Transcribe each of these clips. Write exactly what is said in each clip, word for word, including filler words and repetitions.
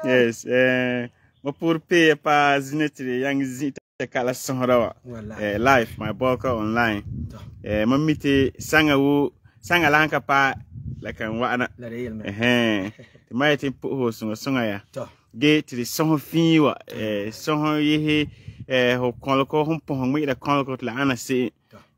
Yes, eh, mapur pay pa zinetri yang zita kala sonrawa. Eh, live my boka online. Eh, mamiti sanga wu sanga lanka pa la kan wana. Eh, the mighty po sunga sunga ya. Ge ti son fiwa eh son yehe eh ho konloko hum po hum ida konloko la ana se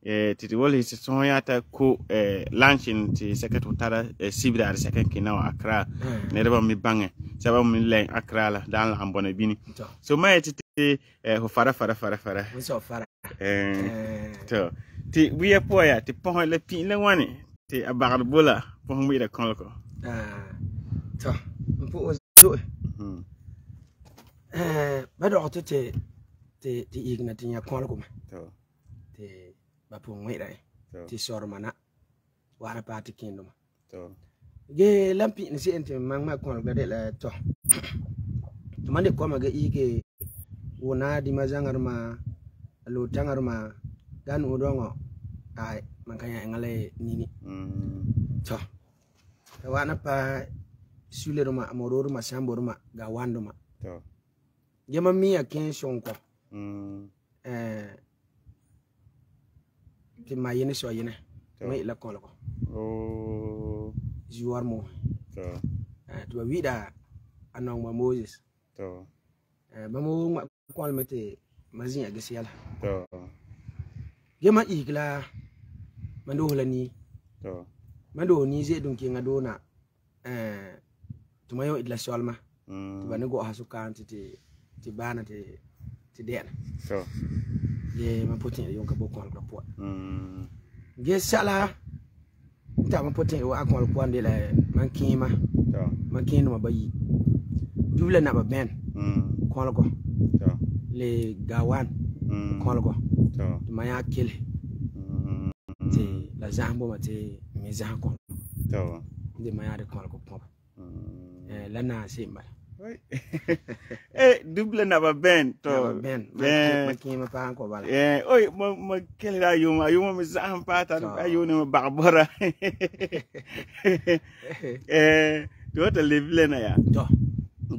eh ti wol hisi son yata ko eh launching ti second utara sibida ar second kinawa Accra ne reba mi bange saba mi len Accra la dan la ambona bini so mai ti eh ho fara fara fara fara so fara eh to ti wiya poya ti po le pi le wani ti abar bola po hum ida konloko ah to po so eh bado to te te ti igna ti nya konloko to te bapu ngwira ti sormana wana pati kindoma to ge lampi ni si ente mangma kon gade la to to mande ko ma ga ige wona di mazangar ma lo tangar ma gan udongo ai mankanya ngale nini to wana pa sulero ma amororo ma samboro ma ga wando ma to ge ma mi aken shonko mm eh ti mayene so yene mai la kon ko oh juar mo to eh to wida anong ma Moses to eh ba mo ma kon mete mazin aga siala to gema igla mando holani to mando ni je dun kinga dona eh to mayo idla solma mm to bane go hasu kan ti ti bana ti ti den to ye ma potin yon ka bokon ko po mm ge sala ta ma potin wa akon ko ande la man kima to man kinu ma bayi dubla na ba ben mm kon ko to le gawan mm kon ko to ma ya kile mm ti la zambo ma ti mi za kon to de ma ya de kon ko po mm eh la na se ma Eh, double na ba ben to. Ben. Ben. Makima pa ko bala. Eh, oi, mo mo kele da yuma, yuma mi zaham pa ta ayu ne bagbora. Eh, do ta live na ya. To.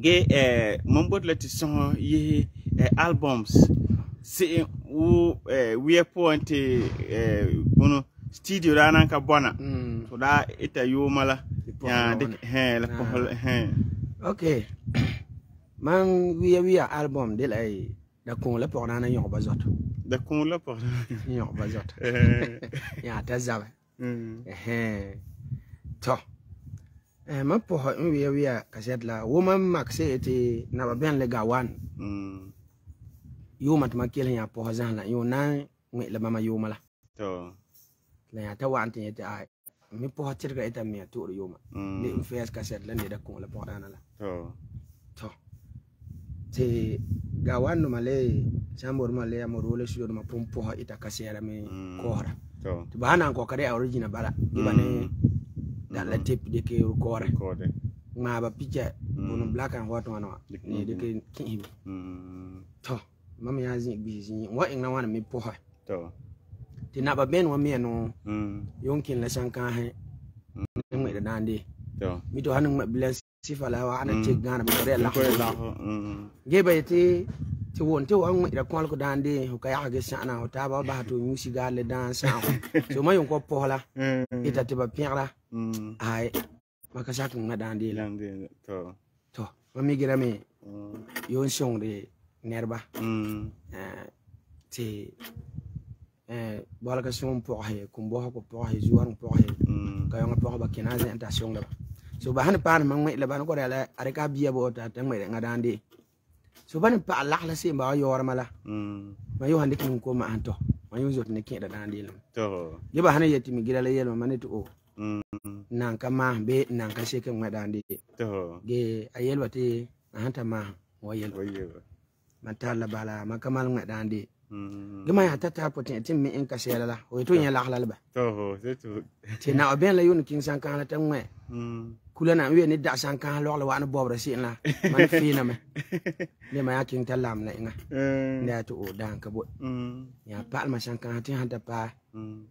Ge eh mon bot la ti son yi eh, albums. Si wo eh we point eh bono studio da nan ka bona. Mm. So da ita yuma la. Ya dik he la ko he. Okay. Man wiya wiya album de lay da kon la por na yon bazot. Da kon la por. Yon bazot. Ya ta zawe. Mm. Eh. To. Eh ma po wiya wiya kaset la wo man maxe ete na ba ben le gawan. Mm. Yo mat ma kel ya po zan la yo na me la mama yo mala. To. La ya ta wan tin ete ai. Mi po tirga eta mi to yo ma. Ni fes kaset la ni da kon la por na la. To. To. Te gawan no male chambor male amorole shudo ma pompo ha ita kasera me kohra. To. To bana ko kare original bala. Ibane da la tip de ke kore. Kore. Ma ba picture bono black and white one ni de ke kin. Mm. To. Mama ya zin bi zin wa ina wana me po ha. To. Ti na ba ben wa me no. Mm. Yonkin la sanka he. Mu da dande. To. Mi to hanin ma bless sifala wa ana ce gana ba kare la. Kore la. Mm. Gebe ti ti won ti wan da kwal ko dande ho ka ya ga sana ho ta ba ba to nyusi ga le dan sa ho. So ma yon ko pola. Ita ti ba pierla. Mm. Ai maka sa kun na dande la. Lande to. To ma mi gira me Mm. yon song de nerba. Mm. Eh ti eh bola ka song po he kun bo ko po he zuar po he. Mm. Ka yon po ba kina ze enta song da. So ba han pa ma ngai la ba ko la are ka biya bo ta ta ngai nga dande. So ban pa Allah la se ba yor mala. Mm. Ma yo hande kin ko ma anto. Ma yo zot ne kin da dande la. To. Ye ba hane yeti mi gira la yelo ma ne to. Mm. Nan ka ma be nan ka se kan nga dande. To. Ge ayel wate ahanta ma wa yel. Oye. Matala bala ma kamal nga dande. Mm. Ge ma ya tata potin tim mi en ka se la. O to nya la la ba. To, c'est tout. Ti na ben la yo kin san kan la tan nga. Mm. Kula na wi ni da san kan lo la wa na bobra sin la. Man fi na me. Le ma ya kin talam la nga. Mm. Da to o dan ka bo. Mm. Ya pa ma san kan tin hanta pa. Mm.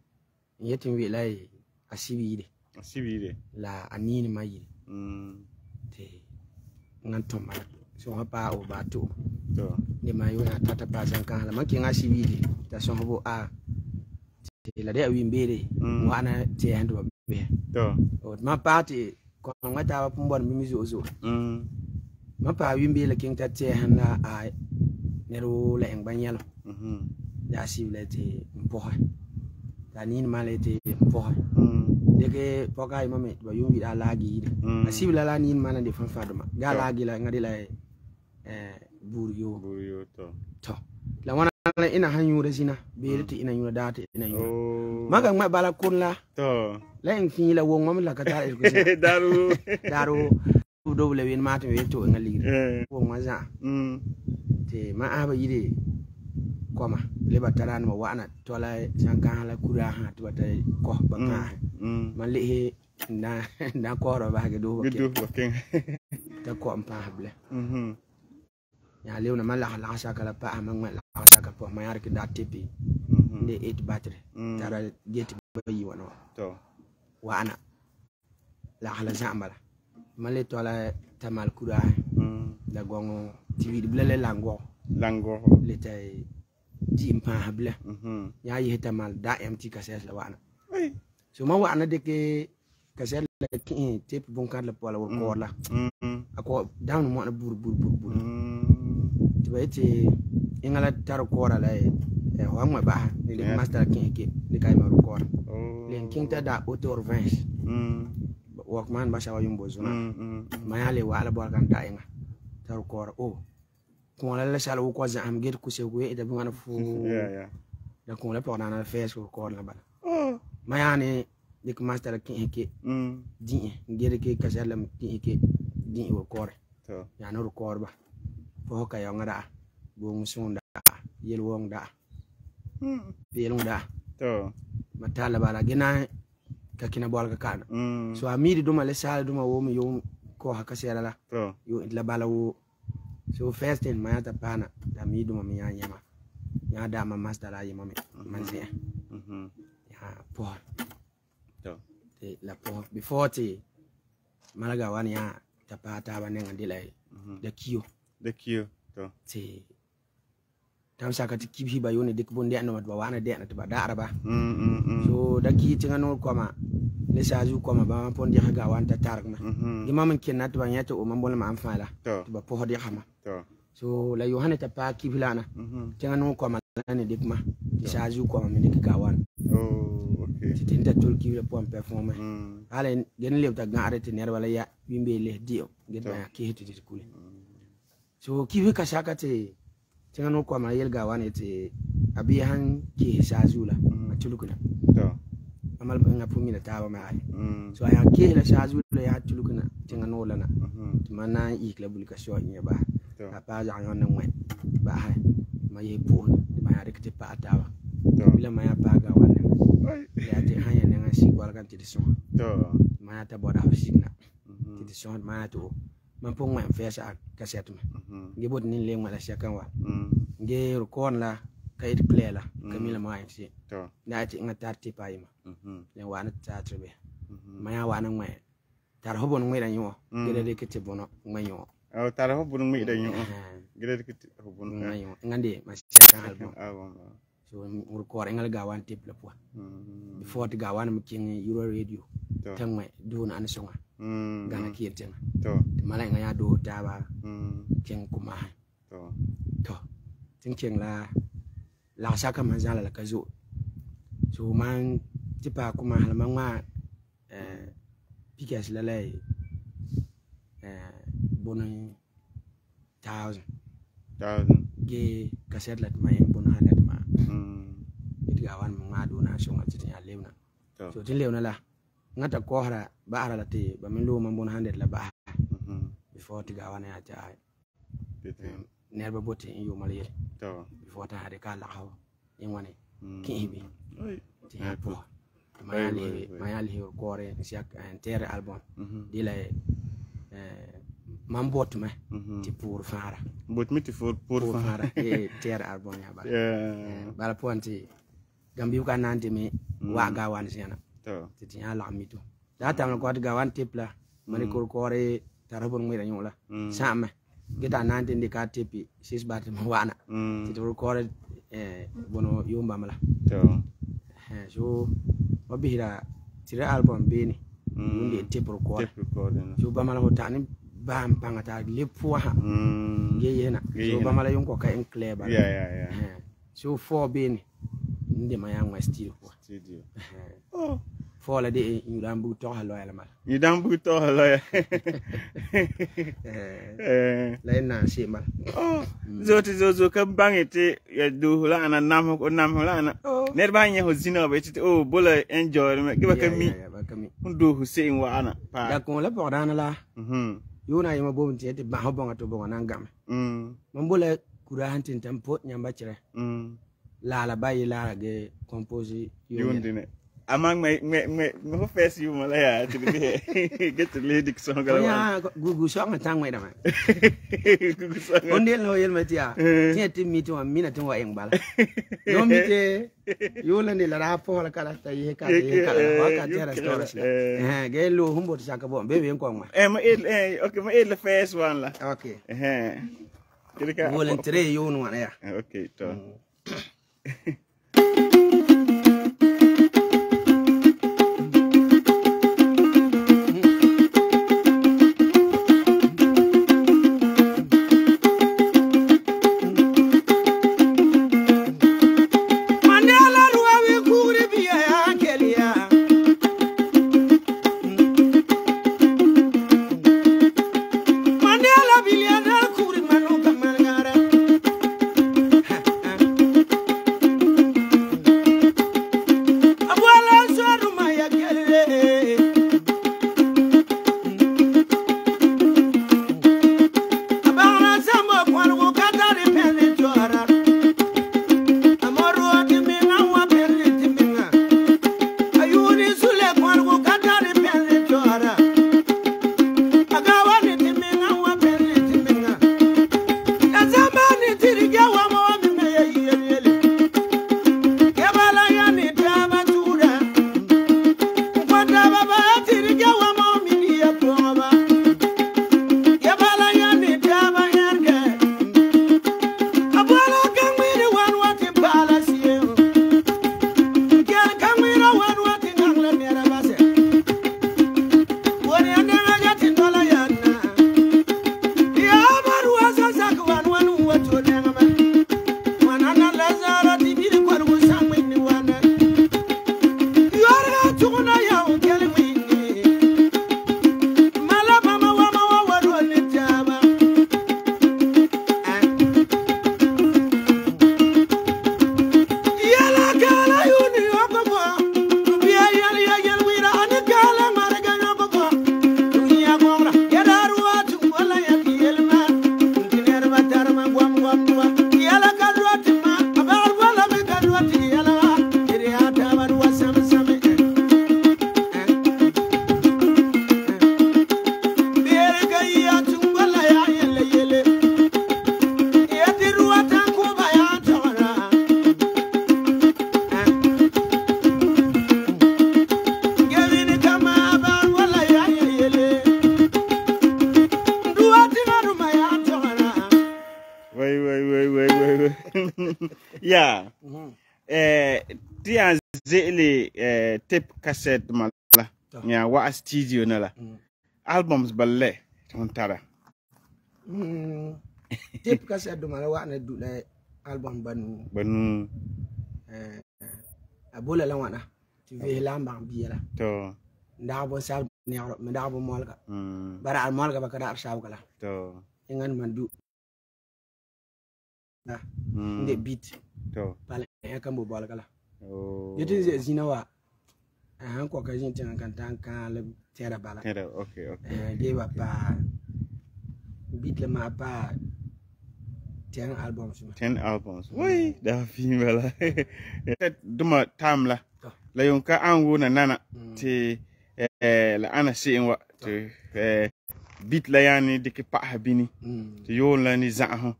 Yetin wi lai asibi de. Sibire. La anini mai. Mm. Te ngan to ma. So ha pa o ba to. To. Ni ma yo na tata pa san kan la man kin asibi de. Ta so bo a. Te la de wi mbere. Wa na te hando be. To. O ma pa te ko ngata wa pumbon mi zo zo. Mm. Ma pa wi mbele kin ta te hanna a ne ro la en banyalo. Mhm. Ya sible te mpo. Ta ni ma le te mpo. Mm. Deke poka i mame ba yumbi da lagi de. Asibla la ni ma na de fan faduma. Ga lagi la ngadi la eh buriyo. Buriyo to. To. La wana ina hanyu da zina. Be te ina yuna date ina yuna. Oh. Maga ma bala kun la. To. La en fi la won mam la kata e ko se. Daru. Daru do le win ma te we to ngali. Eh. Won ma za. Mm. Te ma aba yide koma le bataran ma wana to la sanka la kura ha to ta ko ba ka. Mm. Man le he na na ko ro ba ge do ba Good do king. ta ko am pa hable. Mhm. Ya lew na mala la sa kala pa ma ma la sa ka po ma yar ki da tipi. Mhm. De eight battery. Mm. Tara get ba yi wana. To. Wana la hala zambala. Male to la tamal kura Mm. la gongo T V de blele lango Lango. le tay di pa hable. Mhm. Ya yi tamal da mt ka ses la wana. Ai. So ma wana de ke kaset la ki tip bon kar la pola wor ko la. Mhm. Ako down mo na bur bur bur bur. Mm. Tibaiti ingala tar ko la e ho ma ba ni le master ki ki ni kai ma ko. Oh. Len king ta da auto revenge. Mm. Workman ba shawa yumbo zuna. Mm. Ma ya le wala bor kan ta inga. Tar ko o. Ko la la shala ko za am get ku se ku e da bi wana fu. Yeah, yeah. Da ko la por na na face ko la ba. Oh. Ma ya ni dik master ki ki Mm. di ngere ke kasalam ki ki di wo ko. To. Ya no ko ba. Fo ka yo ngara. Bo musunda yel wong da. Mm. Yel da. To. Matala bala gina ka kina bol ka kana. Mm. So amiri duma le sala duma wo mi yo ko ha ka sera la yo la bala wo so first thing ma ta pana da mi dum mi ya yama ya da ma master la yama mi man se mhm ya po to la po before te malaga wan ya ta pa ta ba nenga dilai da kiyo da kiyo to te tam saka ti kibi ba yoni dik bon de no ba wana de na ba da ba mm so da ki tinga no koma ne saju koma ba pon di ga wan ta tarak ma imam kin nat ba nyata o man bol ma amfa la ba po di xama so la yohana ta pa kibi lana tinga no koma ne dik ma di saju koma me dik ga wan oh okay ti tinta tul kibi pon performe ala gen le ta ga arete ner wala ya bimbe le dio gen ba ki hitu di kule so kibi ka saka te tinga no kwa ma yelga wane te abi han ki shazula a tulukuna to amal nga pumi la tawa ma ai so ya ki la shazula ya tulukuna tinga no lana mana ikla bulka sho nya ba a pa ja yon na ngwe ba ha ma ye pon ma ya rekte pa tawa bila ma ya pa ga wane ya te hanya nga si kwal kan ti so to ma ya ta boda hosigna ti so ma to man pon ngwe fesa kaset ma nge bot nin le ngala shakan wa nge rukon la kayit clear la kamila ma yin to na ti nga tar ti pa yima le wana ta trebe ma ya wana ngwe tar hobon ngwe da yo gele de kete bono ngwe yo aw tar hobon ngwe da yo gele de kete hobon ngwe yo ngande ma shakan album so rukor ngal ga wan tip la po before ti ga wan mu king euro radio tamwe do na an songa gana kieten to mala nga ya do taba king kuma to to tin king la la saka manzala la kazo so man tipa kuma hal ma eh pikas la lay eh bono thousand thousand ge kaset la ma en bono hanet ma mm itiga wan ma do na songa tin ya lewna so tin lewna la ngata ko hara ba ara la te ba min lo man bono hanet la ba before tiga wana ya ta nerba bote in yo maliyel to before ta hade ka la haw in wani kibi ti ha po mayali mayali ko re siak inter album dila eh man bot me ti pour fara bot mi ti pour pour fara e ter album ya ba bala ponti gambi ka nante mi wa ga wan sena to ti ya la mi to da tam ko ga wan tipla mani ko ko re tarabon mi da nyola sama geta nante ndi ka tipi sis bat ma wana ti to ko eh bono yumba mala to eh so obihira tira album beni ndi tip record so ba mala hotani bam pangata lepuwa ha ge yena so ba mala yonko ka en clever yeah yeah yeah so for beni ndi ma yang studio studio oh for la de ñu dam bu to halo yalla mal ñu dam bu to halo ya eh lay na si mal oh zoti zozo ka bangete ya do la ana nam ko nam la ana ner ba nye ho zina ba ti oh bola enjoy me ke ba kami ndo Hussein wa ana pa da ko la bo dana la mhm yona yima bo mti ete ba ho bonga to bonga nangam mm man bola kura hantin tampo nyamba chire mm la la bayi la ge compose yondine among my me me me face you malaya to be get the lady song ga ya gugu song tang mai da ma gugu song onde lo yel matia ti ti mi to mi na to wa eng bala no mi te yo la ni la ra po la kala ta ye ka ye ka wa ka tera stories eh ge lo humbo ta ka bo be be ko ma eh ma eh okay ma eh the first one la okay eh kirika volunteer yo no ya okay to Yeah. Eh, tiyan zeli eh tape cassette mala. Ya wa studio na la. Albums balle on tara. Mm. Tape cassette mala wa na du la album banu. Banu. Eh abola la wana. Tu ve lamba biela. To. Nda bo sal ne me da bo molga. Mm. Bara al molga ba kada arshaw kala. To. Ingan mandu. Na. Mm. Nde beat. To. Bala ya kan bo bol kala. Oh. Yetin ze zinawa. Han ko ka jin tan kan tan kan le tera bala. Tera, okay, okay. Eh de ba pa beat le ma pa ten albums. ten albums. Wai, da female. Duma time la. La yon ka angu na nana ti eh la ana sin wa ti eh beat la yani diki pa habini ti yon la ni za ho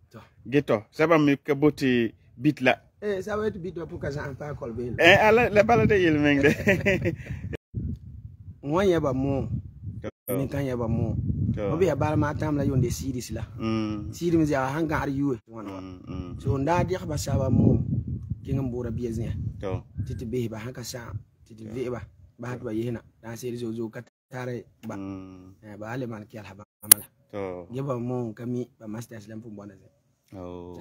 geto saba mi ka boti beat la eh ça va être beat pour ka za pa kol be eh ala la bala de yel meng de mo yeba mo ni kan yeba mo mo be bala ma tam la yon de series la mm series mi za hanga ar yuwe wona so nda di ba saba mo kingam bora bieznya to titi be ba haka sa titi ve ba ba hatwa yehna dan series zo zo katare ba eh ba ale man ki alhaba amala to yeba mo kami ba master slam fu bona ze oh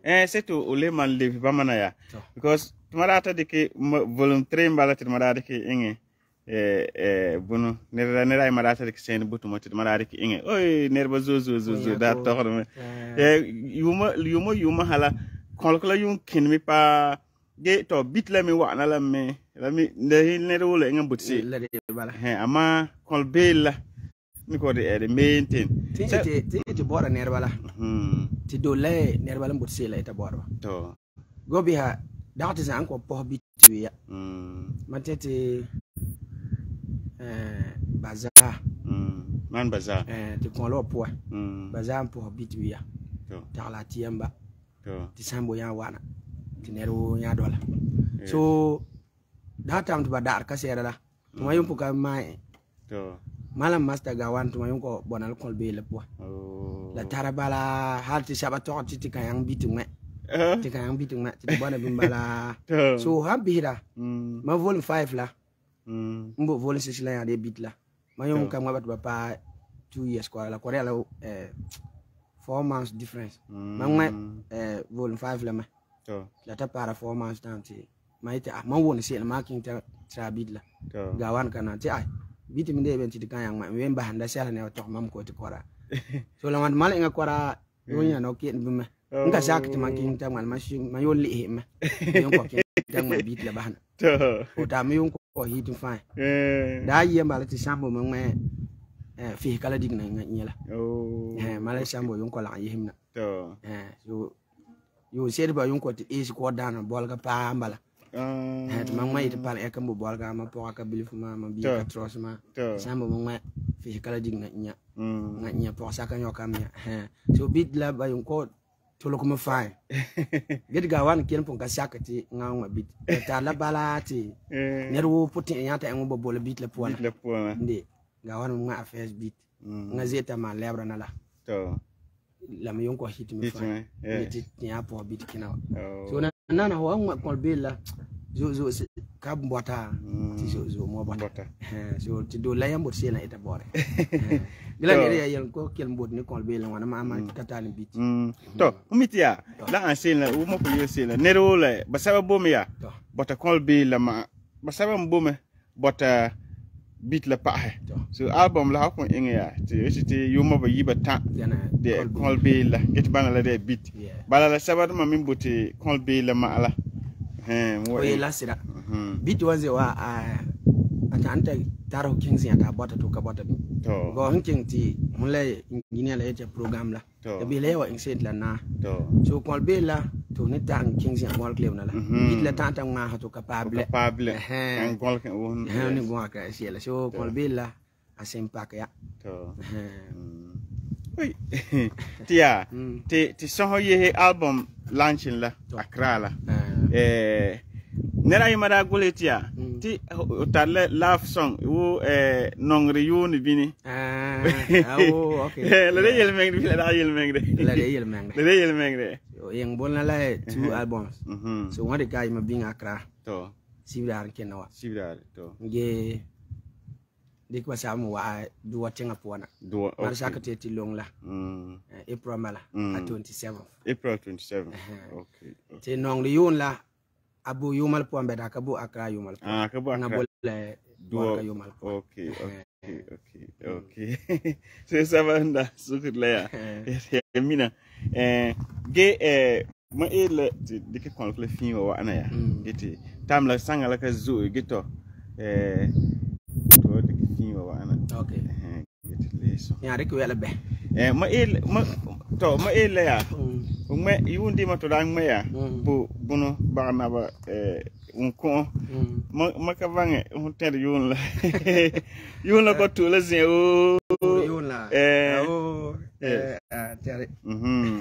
eh seto ole man le ba mana ya because tumarata de ke volume three mbala tumarata ke inge eh eh bunu nera nera ay marata de ke sen butu mo tumarata ke inge oy nerba zo zo zo zo da to xorme eh yuma yuma yuma hala kolkola yun kin mi pa ge to bit la mi wa na la me la mi ne ne role ngam butsi la de bala he ama kol bela mi ko de e maintain ti ti ti bora ner bala hmm ti do le ner bala butsi la ita bora to go bi ha dawti san ko po bit ya hmm matete eh baza hmm man baza eh ti kon lo po hmm baza po bit ya to ta la tiamba to ti sambo ya wana ti neru ya dola so that time to badar ka sera la tuma yum puka mai to malam master gawan tuma yum ko bonal kol be le po oh la tarabala har ti saba to ti ti kayang bitung me ti kayang bitung me ti bona bimbala so ha bihira ma volume five la mbo volume six la ya de bit la ma yum kam ngabat ba pa two years ko la ko la eh four months difference ma eh volume five la ma to la ta para four months down ti ma ite ah ma woni se ma king ta tra bit la gawan kana ti ai bit mi de ben ti kan yang ma we mba handa sala ne to mam ko ti kora so la man mal nga kora yonya no ki bi ma nga sak ti ma king ta mal ma shi ma yo li ma yon ko king ta ma bit la bahana to o ta mi yon ko hit fine eh da yi mba la ti sambo ma ma eh fi kala digna nga nyela oh eh mala sambo yon ko la yihimna to eh so yo sede ba yon ko ti is ko dana bol ga pa mbala ah het ma mai te pal e kam bol ga ma po ka bilif ma ma bi ka tros ma sambo ma ma fi kala digna nya nga nya po sa kan yo kam nya eh so bit la ba yon ko to lo kuma fine get ga wan ken pon ka sakati nga ma bit ta la balati nerwo putin nya ta ngo bol bit la po na bit la po na ndi ga wan nga affairs bit nga zeta ma lebra na la to la mi yonko hit mi fa ni ti nya po bit kina so na na ho ngwa kol bela zo zo ka mbota ti zo zo mo bota so ti do la yambo se na ita bore gila ne ya yan ko kel mbot ni kol bela wana ma ma katani bit to umitia la an se na u mo ko yo se na ne ro le ba saba bomi ya bota kol bela ma ba saba mbome bota bit la pahe so album la ko inga ya ti ti yuma ba yiba ta de kol be la get bana la de bit bala la sabata ma min buti kol be la ma ala eh mo la sira bit waze wa a atanta taro kings ya ta bota to ka bota bi go hinking ti mulai ingine la ete program la e be le wa inset la na so kol be la to ni tan kings ya mol klem na la bit la tanta ma ha to capable capable en kol ke won ni go ka si la so kol be la a sempak ya to oi tia ti ti so ye album launching la Accra la eh nera yimara goletia ti o tar laugh song wo eh nongre yoni bini ah oh okay la de yel mengde la da yel mengde la de yel mengde la de yel mengde yang bolna la two albums so one the guy ma being Accra to sibidar kenawa sibidar to nge dik ba samu wa do watenga pona do mar sakate ti long la mm April mala at twenty-seventh April twenty-seventh okay te nong li yun la abu yumal po ambeda ka bu Accra yumal po ah ka bu Accra ngabole do ka yumal po okay okay okay okay so sabanda sukut la ya mina eh ge eh ma ele dike kon le fin wa ana ya giti tam la sanga la ka zo gito eh to dike fin wa ana okay eh giti leso ya rek wela be eh ma ele ma to ma ele ya ma yundi ma to dan ma ya bu bunu bagna ba eh un ko ma ma ka vange un ter yun la yun la ko to la zin o yun la eh o eh ah tare mhm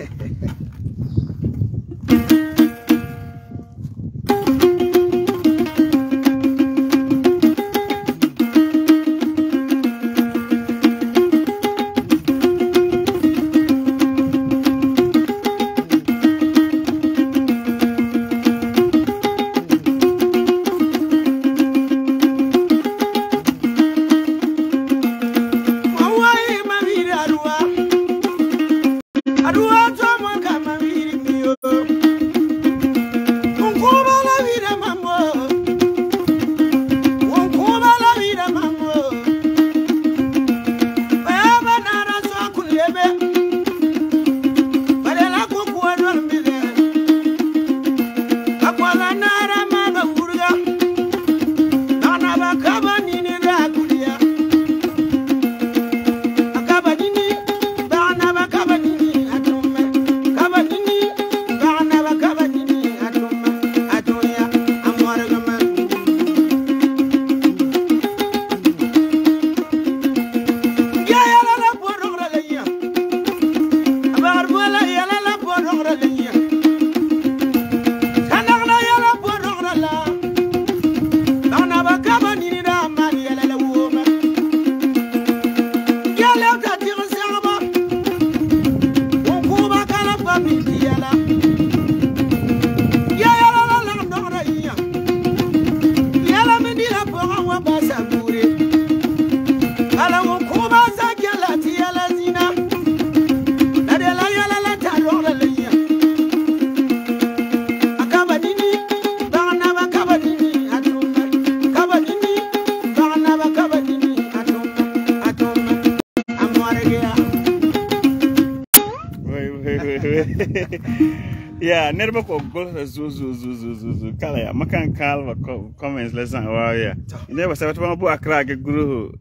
yeah, nerba ko gol zu zu zu zu zu zu kala ya makan kalva comments la san wa ya ne ba sabata ma bu Accra ke guru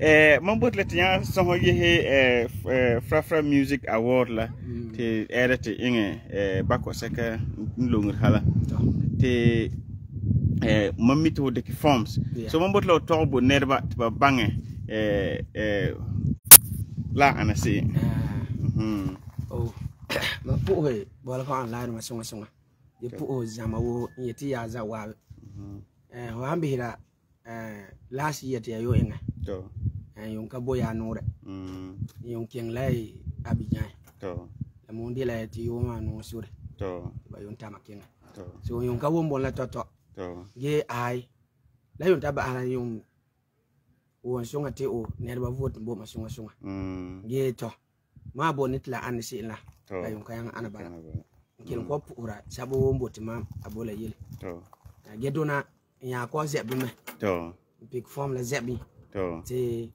eh man bot let ya so ho ye eh Frafra Music Award la te edit inge eh bako saka nlongur hala te eh mamito de forms so man bot lo torbo nerba ba bange eh eh la anasi mhm oh ma po he bola ko online ma sunga sunga ye po zama wo yeti ya za wa eh ho ambira eh last year te yo enga to eh yon ka boya nore mm yon ken lai Abidjan to la mondi la ti yo ma no sure to ba yon ta makenga to so yon ka won bon la to to to ge ai la yon ta ba ala yon won sunga te o ne ba vote bo ma sunga sunga mm ge to ma bonit la an si la la yon kayang ana bala kin ko pura sabo wombo tima abola yele to ge dona ya ko zebi me to big form la zebi to ti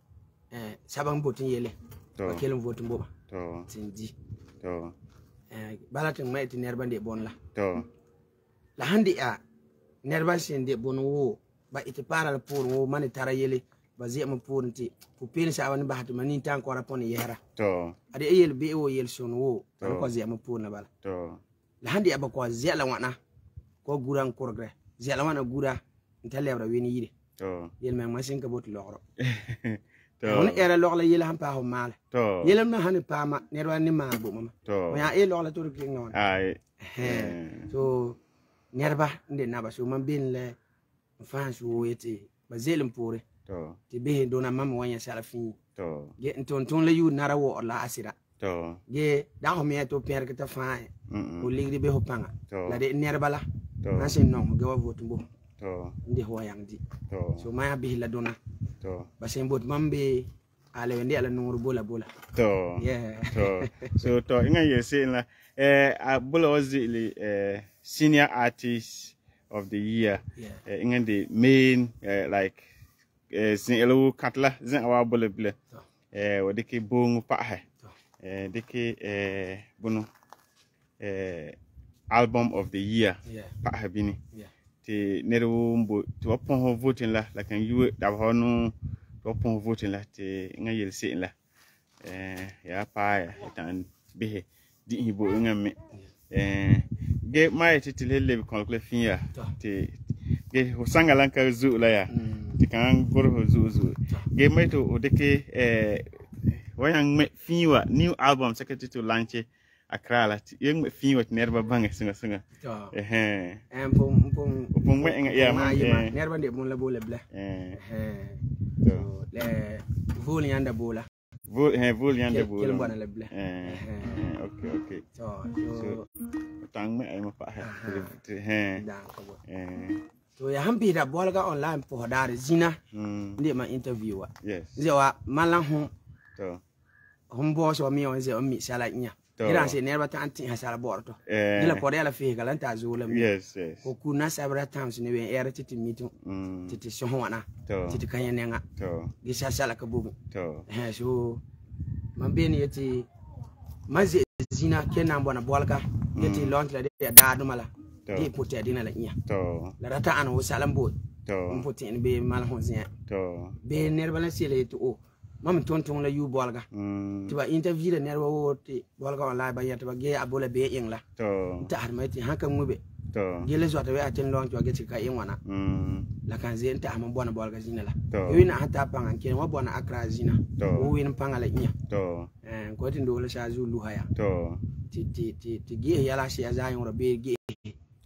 eh sabang botin yele to kelum votin boba to tinji to eh balatin mai ti nerba de bon la to la handi a nerba sin de bon wo ba iti para la pour wo mani tara yele ba zema pour nti pu pin sa wani ba hatu mani tan ko rapon yera to ade yel be wo yel son wo ko zema pour na bala to la handi aba ko zela wana ko guran kurgre zela wana gura ntalebra weni yide to yel me masin ka bot logro to on era logla yel han pa ho mal to yel na han pa ma ne ro ni ma bo mama to ya e logla to ki ngon ai so nerba nde na ba so man bin le fans wo yete ba zelim pore to ti be dona mam wanya sala fin to ge ton ton le yu nara wo la asira to ge da ho me to per ke ta fa o ligri be ho panga la de nerba la to na sin no ge wa votu bo to ndi ho yang di to so ma bi la dona to ba sen bot mambe ale wende ala nuru bola bola to yeah to so to inga yese la eh abula wazili eh senior artist of the year yeah uh, inga the main uh, like eh sin elo katla zin awa bole ble eh wadiki bongu pa he eh diki eh bunu eh album of the year yeah pa ha bini yeah ti neru mbo to pon voting la la kan yu da honu to pon voting la ti inga yel sin la eh ya pa ya tan bihe di hibo inga me eh ge mai ti tilele kon ko finya ti ge hosanga lanka zu la ya ti kan goro zu zu ge mai to odeke eh wayang me fiwa new album secretary to launch Accra la yeng me fiwa nerba bange singa singa eh eh em pom pom pom me ya ma nerba de mon la bola bla eh eh so le vol yanda bola vol eh vol yanda bola kel bona la bla eh okay okay so so tang me ay ma pa ha eh dan ko eh so ya hambi da bolga online po dare zina ndi ma interview wa yes zewa malan hu to hum bo so mi on ze on mi sala nya ira se nerba ta anti ha sala borto eh dila pore ala fi galan ta zo la yes yes ko kuna sabra times ne we era titi mitu titi so wana titi kanya nenga to gi sa sala ka bugu to eh so man beni yeti mazi zina kenan bona bolga yeti lontle de da dumala di puti dina la nya to la rata an wo salam bo to puti be mal hon zin to be nerba la sele to o mam ton ton la yu bolga tiba interview de nerba wo ti bolga online ba yata ba ge abola be ing la to ta har mai ti hanka mube to ge le zota we atin long to ge ti ka ing wana mm la kan zen ta am bona bolga zina la to wina hata pangan ken wa bona Accra zina o win pangala nya to eh ko tin do la sha zulu haya to ti ti ti ti ge yala shi azayin ro be ge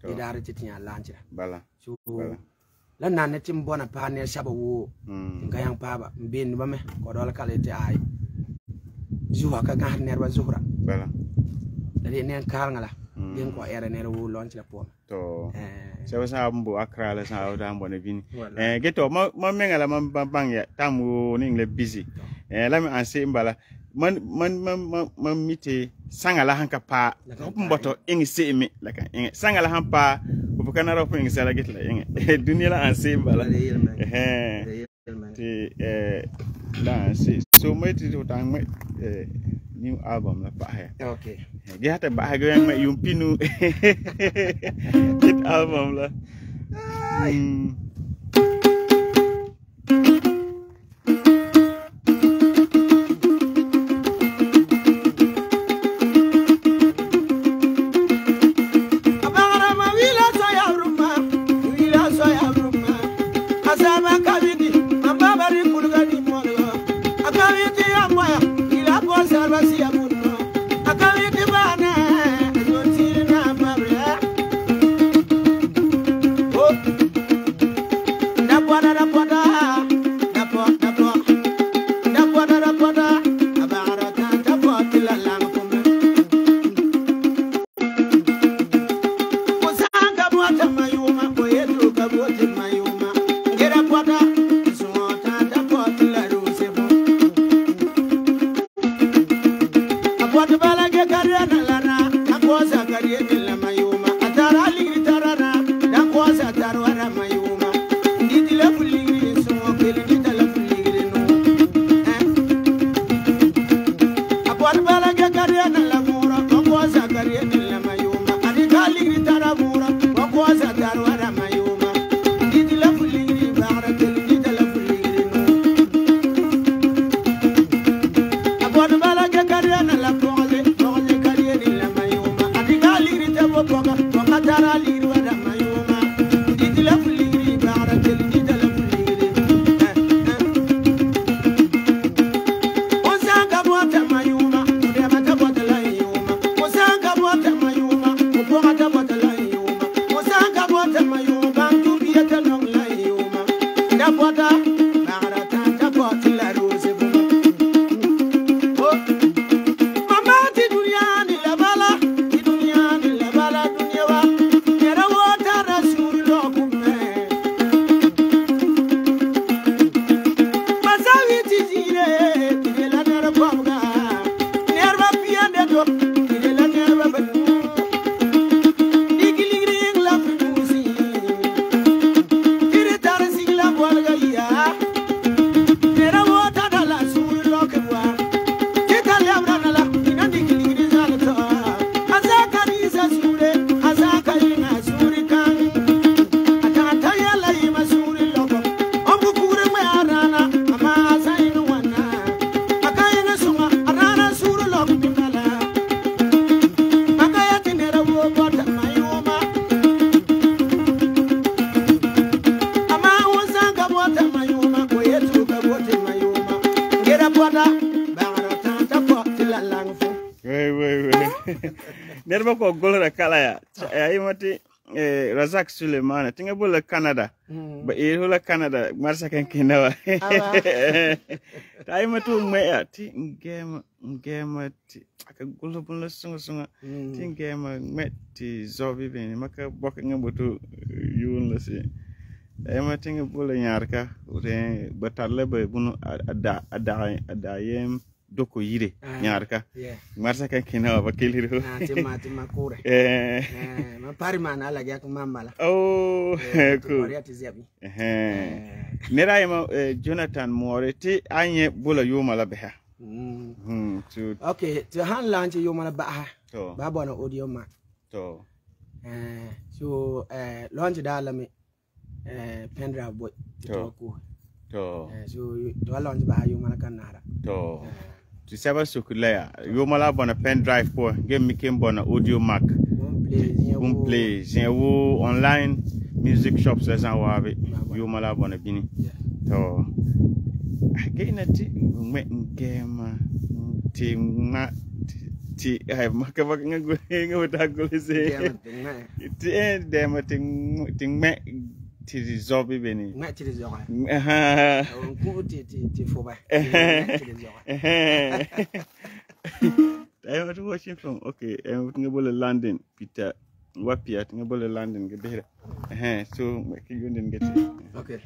idare ti tinya lanjira bala so la nanne tim bona pa ne saba wo nga yang pa ba mbin ba me ko dol kale ti ay zuwa ka ga nerba zuhra bala da de nen kar ngala den ko era ne wo lonch la pom to eh sa sa mbo Accra la sa da mbo ne vini eh geto ma ma mengala ma bang ya tamu ni le busy eh la mi anse mbala man man man man mite sangala hanka pa mboto ingi semi la kan ingi sangala hampa ko kana ro ingi sala git la ingi dunia la anse bala eh ti eh la anse so meti to tang me eh new album la pa he okay ge hata ba ha ge yang me yumpinu it album la Mayuma, Musanga bota mayuma, bantu biyata long la Nerba ko golra kala ya ay mati Razak Suleiman tinga bola Canada ba e hola Canada marsa kan kinawa tay matu me ti ngema ngema ti aka golra bola sunga sunga ti ngema metti zobi ben maka bok ngabotu yun la si ay mati nga bola nyarka re batarle ba bunu ada ada ada yem doko yire nyarka marsa kan kinawa ba keliro tema tema kure eh ma pari mana la yak mamala oh cool eh nera yema Jonathan Moreti anye bula yoma la beha mm okay to han launch yoma la baha to ba bona audio ma to eh so eh launch da la me eh pendrive boy to to eh so to launch ba yoma la kanara to tu saba sukulaya yoma la bona pen drive po game mikim bona audio mark boom play je wo online music shops les en wabe yoma la bona bini to again ti me game ti ma ti ay maka bak nga go nga wata go se ti e dem ti ti me ti zobi beni ma ti zoba aha ko ti ti ti foba ti zoba I was watching from okay and nga bole London Peter wapia nga bole London ge behra eh so ki yonden gati okay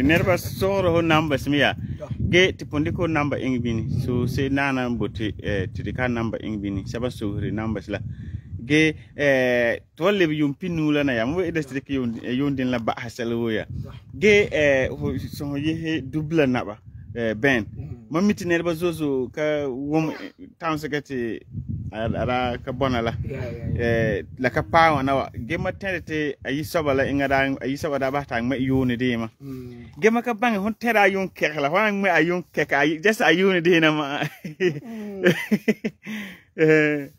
nerba soro numbers miya ge tipondiko number ingbini so se nana mboti eh tidika number ingbini saba sohri numbers la ge eh tolle bi yum pinula na ya mo e destrik yondin la ba hasalo ya ge eh so ye double naba eh ben mamiti nerba zozo ka wom town secretary ara ka bonala eh la ka pawa na ge matete ayi sabala ingada ayi sabada ba ta me yoni de ma ge maka bang hon tera yon kekla wan me ayon kek ayi just ayoni de na ma eh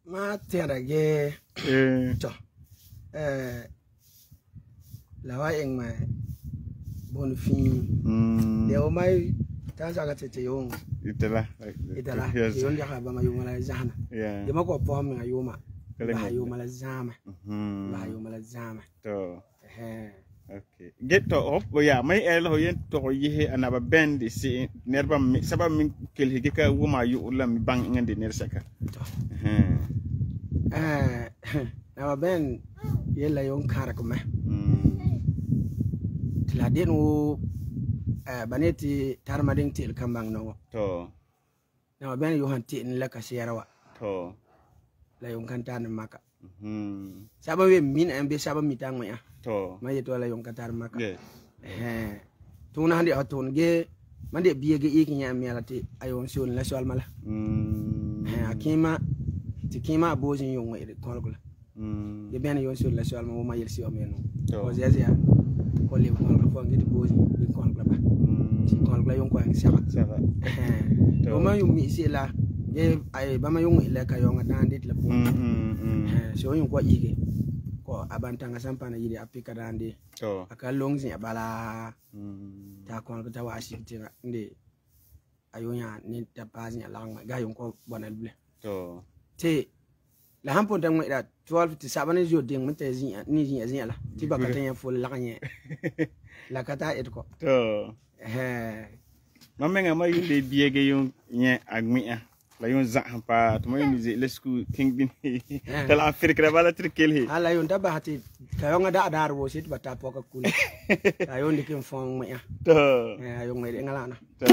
ma tera ge eh to eh la wa ing ma bon fin mm le o mai ta sa ga te yung itala itala yung dia ka ba ma yung mala zahana ya ma ko po mi ayuma ba yung mala zama ba yung mala zama to eh okay get to op ya mai el ho yen to yihe anaba bend si nerba mi saba mi kel hige ka wuma yu ulam bang ngande ner saka eh eh na ben yela yung kara ko me la den wo eh baneti tarmading til kambang no to na ben yo hanti in la ka sherawa to la yung kantan maka mhm saba we min en be saba mitang ya to ma yeto la yung kantar maka yes eh tuna handi atun ge mande biye ge iki nya melati ayon sul la sol mala mhm eh akima tikima bozin yung wa kolkula mhm ge ben yon sul la sol ma ma yelsi o meno to ko zezia ko le ko ko ngiti bozin ni kolkula ba mhm kolkula yung ko ang saba saba eh o ma yung mi sila ge ay ba ma yung ile ka yung dandit la po mhm eh so yung ko ige ko abantanga sampana yidi apika dandi to aka longzi abala mhm ta ko ko tawa asibiti ndi ayonya ni ta pazi alang ga yung ko bonal ble to te la hampon tang da twelve to seven jo ding mun te zin ni zin zin la ti ba ka tan ful la kanye la kata et ko to eh mamenga ma yunde biege yung nye agmia la yon za pa to mo yunde le sku king bin tala afrika da bala trikel he ala yon da ba hati ka yon da dar wo sit ba ta po ka kul ayon dikin fon ma ya to eh ayon ngai ngala na to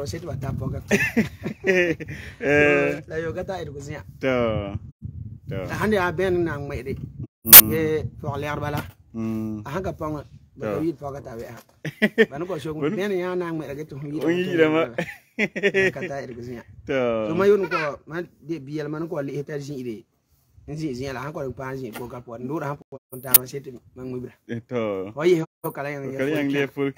sit ba ta po ka eh la yo gata idu kunya to to hande a ben nang mai de e for ler bala mm a hanga pang ba yi po ka ta we ban ko shogun ben ya nang mai ga to yi yi ma kata idu kunya to so mayun ko man de biyal man ko li etar jin ide nzi zin la han ko pa jin ko ka po ndura han po ta no set man mu bra to oyi ko kala yang kala yang le ful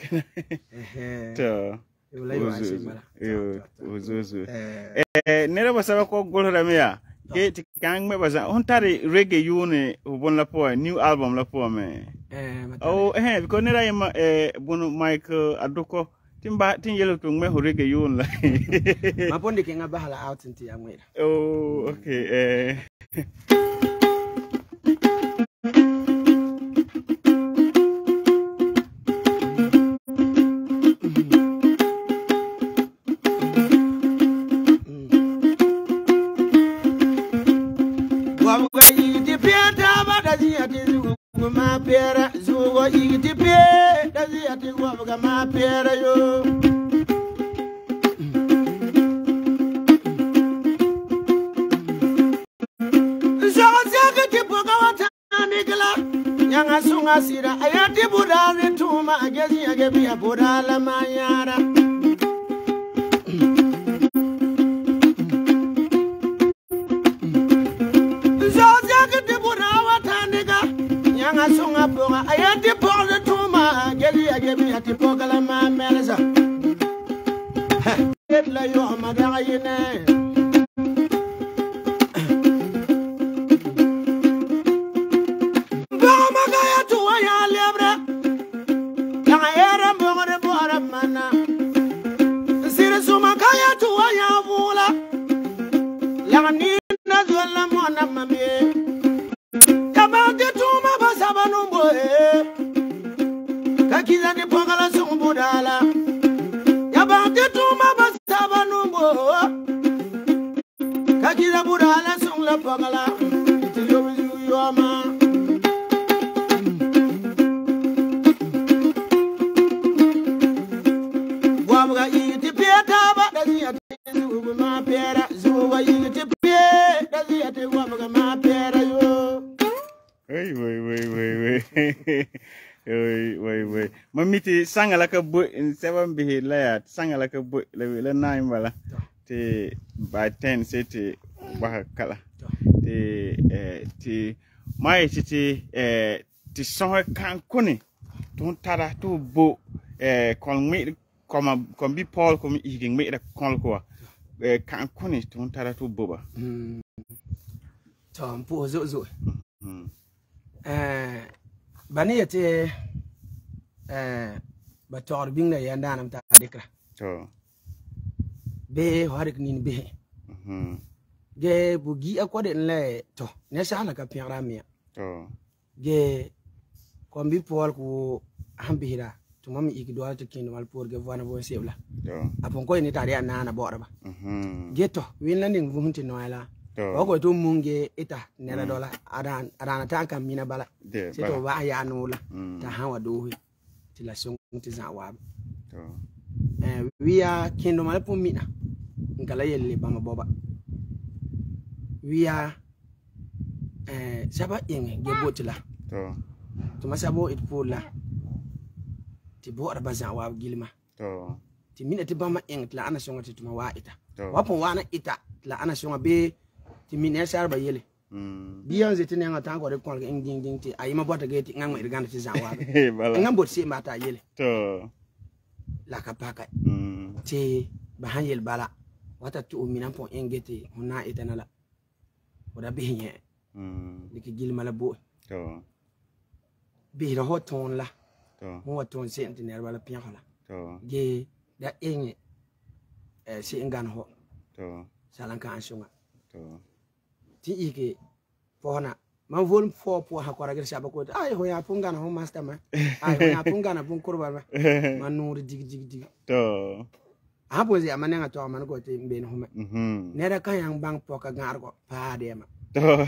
eh to yo uzuzu eh nera basaba ko golora meya ke tikang me basa on tari reggae yune ubon la po new album la po me eh oh eh ko nera yema eh bunu mic aduko timba tin yelo to me ho reggae yun la ma ponde ke ngaba hala out nti amwera oh okay eh ma pera zuwa igiti pe dazi ati wa ga ma pera yo zaga zaga ti boga wata nigla nyanga sunga sira ayati budani tuma agezi agebi abudala manyara sunga ponga ayati ponga tuma geli agebi ati pogala ma melza het la yo madaga yene ba magaya tu ya lebra la era mbore bora mana sire suma kaya tu ya bula la ni na zola mona mame sabanumbo eh kakiza ni pogala sumbudala yabante tuma basabanumbo kakiza budala sungla pogala tiyobizu yoma wabga Oi oi oi. Mamiti sanga la ka bo in seven be la ya sanga la ka bo la la nine bala. Te by ten se te ba kala. Te eh te mai te eh te soho kan kuni. Ton tara to bo eh kon me kom kom bi Paul kom igin me da kon ko. Eh kan kuni ton tara to bo ba. Mm. To mpo zo zo. Mm. Eh bani yete eh ba tor bingna ya ndanam ta dikra. To. Be harik nin be. Mhm. Ge bugi akwade nle to ne sala ka piara mia. To. Ge kombi Paul ko hambira to mami ikidwa to kin wal por ge vana bo sebla. To. Apon ko ni tare na na bora ba. Mhm. Ge to win landing vunti noela. To. Ko to munge ita nera dola adan adan ta kan mina bala. Se to ba ya nula ta hawa do ti la song ti za wa. To. Eh wiya kindo mala pum mina. Ngala yelle bama boba. Wiya eh saba ing ge botila. To. To masabo it pola. Ti bo arba za wa gilma. To. Ti mina ti bama ing la ana songa ti tuma wa ita. To. Wapon wana ita la ana songa be ti mina sarba yele. Mm. Biyan zeti ne ngata ko de kon ing ding ding ti ayima bota ge ti ngam irganda ti za wa. Bala. Ngam bot se mata yele. To. La ka paka. Mm. Ti bahan yel bala. Wata tu mina pon ingeti huna ita nala. Wada bihinye. Mm. Diki gilma la bo. To. Bi ho ton la. To. Mo ton se ti ne bala pian hola. To. Ge da inge eh si ingan ho. To. Salan ka ansunga. To. Ti ike fona man vol fo po ha ko ragir shaba ko ay ho ya punga na ho master ma ay ho ya punga na pun kurba ma man nur dig dig dig To. ha po ze amane nga to man ko te mbe no ma Mhm. ne da kan yang bang po ka gar ko pa de ma To.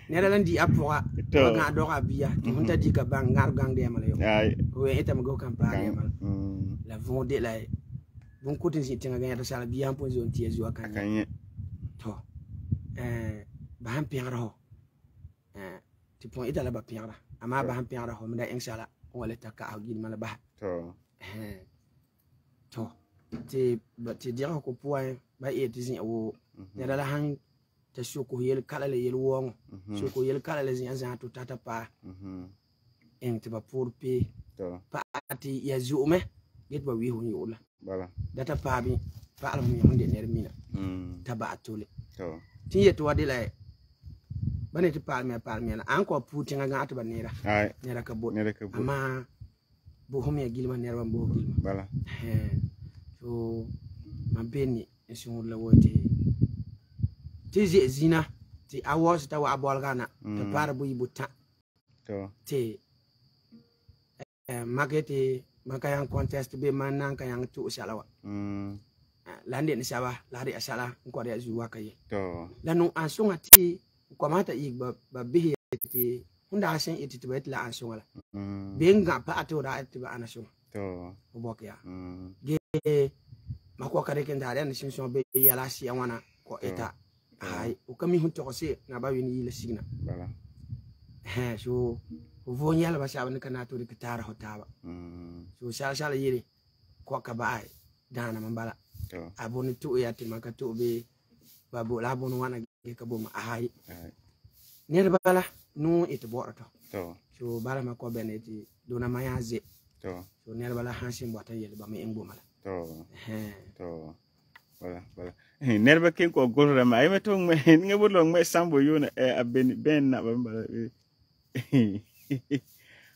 ne da lan di apoa To. ga do ga biya to hunta di ka bang gar gang de ma le yo Ai. ho eta ma go kan pa de ma Mm. la von de la bon ko tin si tinga ga ya sala biya po zon tie zo kan Kanye. to eh bahan piara ho eh ti pon ita la ba piara ama bahan piara ho mda inshallah wala taka agin mala ba To. eh to ti ba ti dira ko puai ba e ti zin wo ne la han ta shuko yel kala le yel won shuko yel kala le zin zan to tata pa Mhm. en ti ba pour pe To. pa ati ya zume get ba wi hu yola Bala. data pa bi pa al mu hunde ner mina Mm. ta ba atole To. ti yeto wadi la bane ti palme palme na anko puti nga ngata ba nera Ai. nera ka bot Nere ka bo. ama bo homi gilma nera ban bo gilma Bala. eh so man beni esun la wote ti zi zina ti awos ta wa bol gana ta para bu yibuta To. ti eh magete makayan contest be man nan kayan tu salawa Mm. lande ni sawa lari asala ko da zuwa kai To. lanu ansunga ti ko mata i ba ba bihi ti hunda asen iti ti bet la ansunga la Mm. benga pa ato da ti ba anasunga To. ubok ya Mm. ge mako kare ken da ran sin so be yala si wana ko eta ai o kami hun to se na ba wi ni le signa Bala. he so o vo nyala ba sha ban kana to de kitara hotaba Mm. so sha sha la yiri ko ka ba ai dana mambala To. aboni tu ya ti maka tu be babu la bonu wana ge ka bo ma ai Ai. ne bala nu it bo to To. so bala ma ko beneti dona ma ya ze To. so ne bala hansin bo tan yele ba me engbo mala To. he To. Bala. Bala. Nerba kin ko gorra ma. Ai me to me nge bulo me sambo yona e abeni ben na ba bala.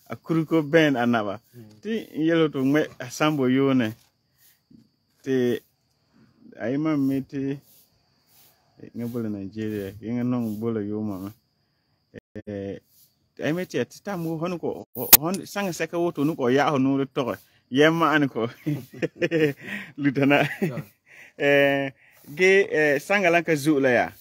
Akuruko ben anaba. Ti yelo to me sambo yona. Ti ai ma meti nge bulo Nigeria. Nge non bulo yoma. Eh ai meti ti tamu hon ko hon sanga seka woto nu ko ya ho nu to. Yemma an ko. Lutana. Eh ge eh sangala ka zula ya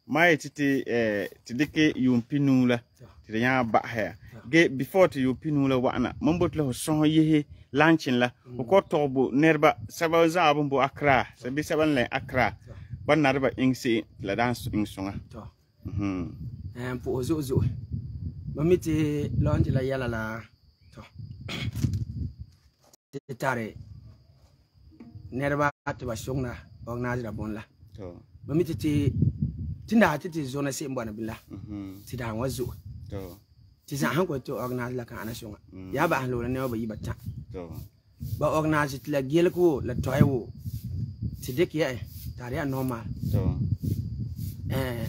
mai titi eh tidike yumpinu la ti ya ba ha ge before ti yumpinu la wana mambot la so yehe lanchin la ko tobo nerba saba za abun bo akra sabi saban le akra ban narba ingsi la dance ingsunga to mhm em po zo zo mamiti launch la yala la to tare nerba to ba shungna organize la bon la to mamiti ti tinda ti ti zona se mbona bila mhm ti da wazo to ti san han ko to organize la kan ana shunga ya ba han lo ne ba yi bata to ba organize ti la gel ko la toy wo ti dik ya tare ya normal to eh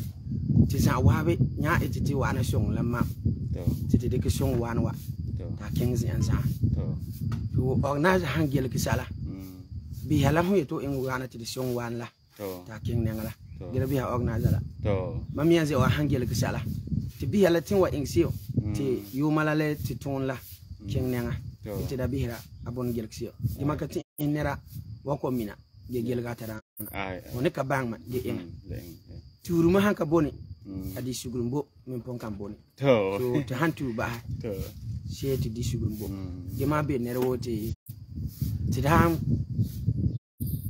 ti san wa be nya ti ti wa ana shung la ma to ti ti dik shung wa wa to ta kings yan sa to to organize han gel ki sala mm bi hala hu to in wa na ti shung wa la to ta king ne ngala to gel bi ha organize la to mam yan ze wa han gel ki sala ti bi hala tin wa in sio ti yu malale ti ton la king ne nga ti da bi hira abon gel ki sio di makati inera wa ko mina ge gel ga tara ai woni ka bang ma ge en leng turu ma han ka boni adi sugurumbo min pon kan boni to to to han tu ba to she ti di sugurumbo ge ma be nere wote ti dam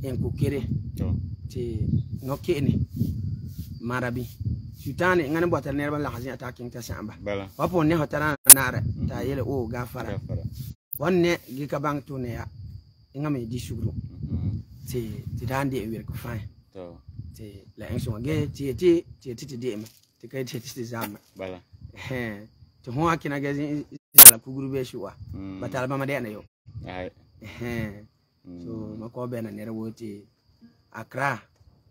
en ko kere to ti no kene marabi sutane ngane botar nerba la hazin attacking ta samba bala wapo ne hotara nara ta yele o gafara gafara wonne gi ka bang to ne ya ngame di suguru mhm ti ti dande e wer ko fine to ti la en so ge ti ti ti ti de me ti kai ti ti zama bala eh to ho akina ge la kuguru be shuwa batal ba ma de na yo ai eh so mako be na nere woti Accra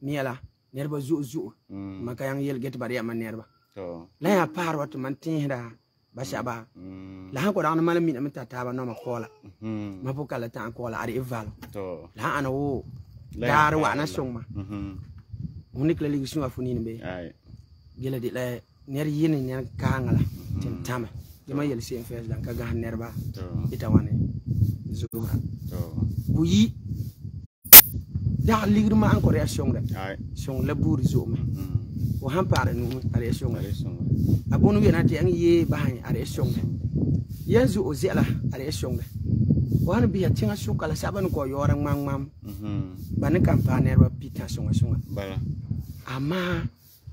miala nerba zu zu maka yang yel get bari man nerba to la ya par wat man tinda ba shaba la han ko da man mi na ta ba no ma kola mhm ma po kala ta kola ari eval to la ana wo dar wa na songma mhm unik la ligi sunga funini be ai gele de la ner yin ner kangala tin tama dama yel sen fes dan ka ga nerba to ita wane zura to buyi da ligir ma encore ya songa ai song la buri zoma mhm o han pare nu are songa ale songa abonu yana ti an ye bahan are songa yanzu o zela are songa wan bi ya tinga su kala saban ko yoran mam mam mhm ban campagne ba pita songa songa bala ama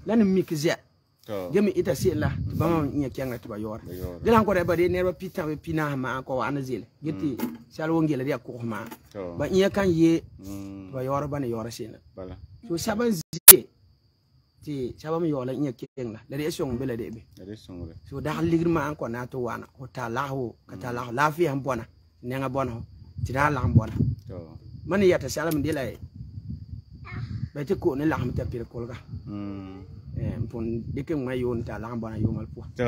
lan mikze to gemi ita sila ba ma nya kyanga to ba yora dilan ko ba de ne ba pita be pina ma ko an zele giti salwo ngela dia ko ma to ba iya kan ye mhm ba yora ba ne yora sina bala so saban zi ti saban yola nya kenga la de song bele de be ale songa so da ligir ma ko na to wana o ta lahu ka ta lahu lafiya han bona ne nga bona ti da la bona to man ya ta salam de la ba ti ko ne la ham ta pir kolga mhm eh pon de ke ma yon ta la bona yo mal po to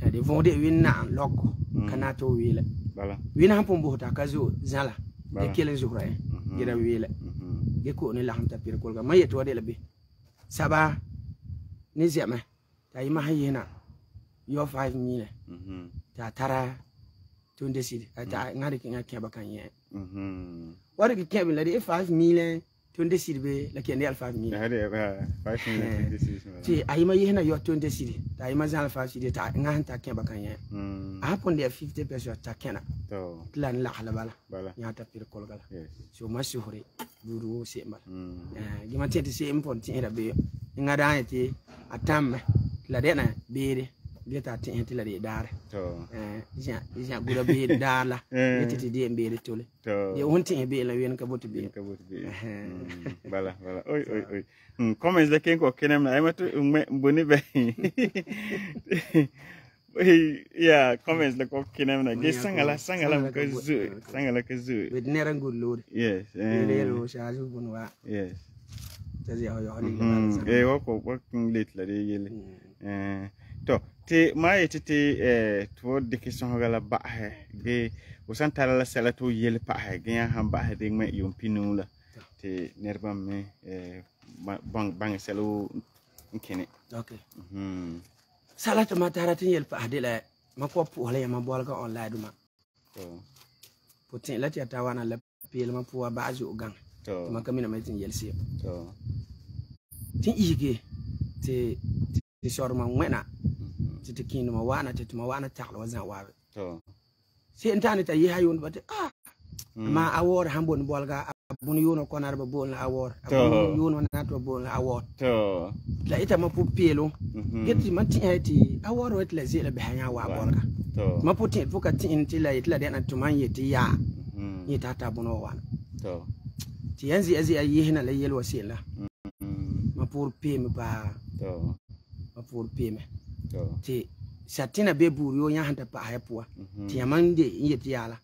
eh de von de win na loko kana to wile bala win han pon bo ta ka zo zala de Bala. kelen zuhra eh gida wile mhm ge ko ne la ham ta pir kolga ma yeto de la be saba ni zema ta yi ma hayina yo five mille mhm ta tara tunde sid ta ngari kinga keba kan ye mhm wari ki keba la de five mille tunde sid be la kende al five mille hade ba five minutes decision ti ayima yehna yo tunde sid ta ayima zan five sid ta ngan ta keba kan ye mhm a pon de fifty pesos ta kena to plan la hala bala bala nya ta pir kolgala yes so masuhuri duru se mal mhm eh gima tete se impon ti era be ngada ti atam la de na bere geta ti enti la de dar to eh ja ja gura be dala geta de mbere tole to ye wonti e be la wen ka botu be ka bot be bala bala oi oi oi hmm comments de ken ko kenem na aymato mboni be yeah comments de ko kenem na ge sangala sangala ko zu sangala ko zu with nera ngul lord yes eh le shaju bunwa yes tazi ya yo hali eh wo ko working late la de yele eh to te mai te eh to de question gala ba he ge usan tala la sala to yele pa he ge han ba he de me yum pinu la te nerba me eh bang bang selo nkene okay mhm salatu matara tin yel pa de la mako pu wala ma bol ka online duma to putin la ti tawana la pil ma pu ba azu gang to ma kamina mai tin yel si to tin ige te ti sorma wena ti ti kin ma wana ti ma wana takla wazan wawe to si intani ta yi hayun bate ah ma awor hambon bolga bun yono ko na ba bol na award bun yono na to bol na award to la ita ma pu pelo geti man ti eti award wet la zela be hanya wa bolka to ma pu ti fuka ti in ti la itla de na to man yeti ya ni tata buno wan to ti yanzi azi ayi hina la yel wasila ma pu pe me ba to ma pu pe me to ti satina be buru yo nya hanta pa ha puwa ti yamande yeti yala